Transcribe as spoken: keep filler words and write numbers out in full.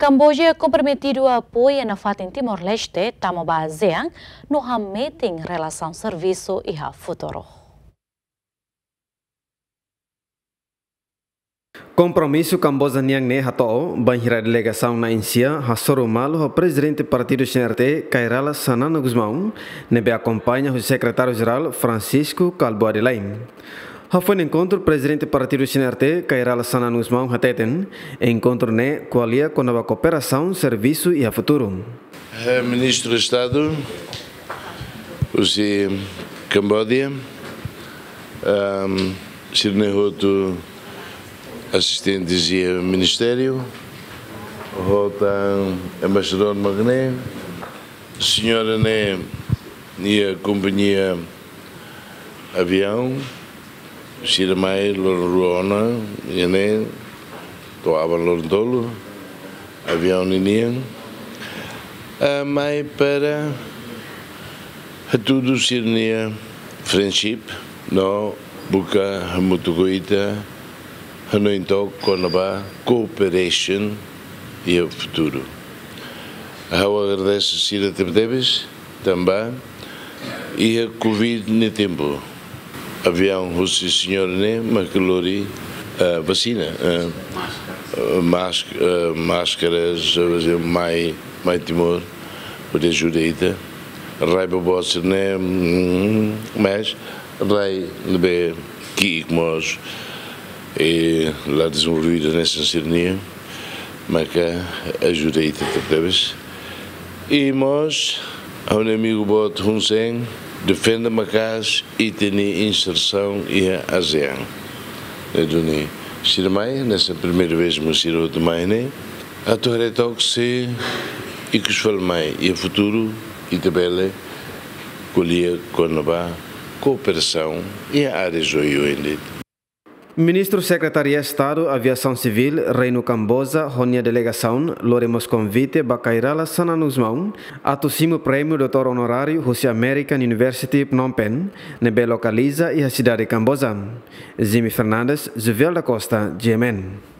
Kamboja komprometidu apoia nafatin Timor-Leste tama ba ASEAN no hametin relasaun servisu iha futuru. Kompromisu Kamboja nian ne'e hato'o bainhira delegasaun na'in-sia hasoru malu ho Prezidente Partidu C N R T, Kay Rala Xanana Gusmão, ne'ebé akompaña husi Sekretáriu-Jerál Francisco Kalbuadi Laim. Hafoin enkontru, Prezidente Partidu C N R T, Kay Rala Xanana Gusmão hateten, enkontru ne'e ko'alia kona-ba kooperasaun servisu iha futuru. Eh, Ministru Estadu husi Kamboja, ehm, sira-ne'e hotu asistentes iha ministériu, ho tan embaixadór mak ne'e, señora ne'e iha kompañia aviaun, sira mai loron rua ona, iha ne'e to'o aban loron tolu, aviaun ninian. Ah, mai para hatudu sira-nia friendship, no buka hamutuk ho ita, hanoin took kona-ba cooperation iha futuru. Ha'u agradese sira tebetebes, tanba iha Covid nia tempu, aviaun husi señora ne'e mak lori, eh, vasina, eh, eh, mask-, eh, máskaras, eh, mai, mai Timor, hodi ajuda ita. Rai boboot sira-ne'e, mm, mas rai ne'ebé ki'ik mós, i la dezenvolvidu hanesan sira-nian, maka ajuda ita tebetebes. I mós, ha'u-nia amigu boot Hun Sen, defende maka'as ita-nia insersaun iha ASEAN. Ne'e duni sira mai, hanesan primeira vez mak sira hotu mai ne'e, atu haree took se ikus fali mai iha futuru ita bele ko'alia kona-ba kooperasaun iha áreas oioin de'it. Ministru Sekretáriu Estadu Aviasaun Sivíl Reinu Kamboja ho nia delegasaun lori mós konvite ba Kay Rala Xanana Gusmão atu simu prémiu doutór onoráriu husi American University Phnom Penh, ne'ebé lokaliza iha sidade Kamboja. Jimmy Fernandes, Juvel da Costa, G M N.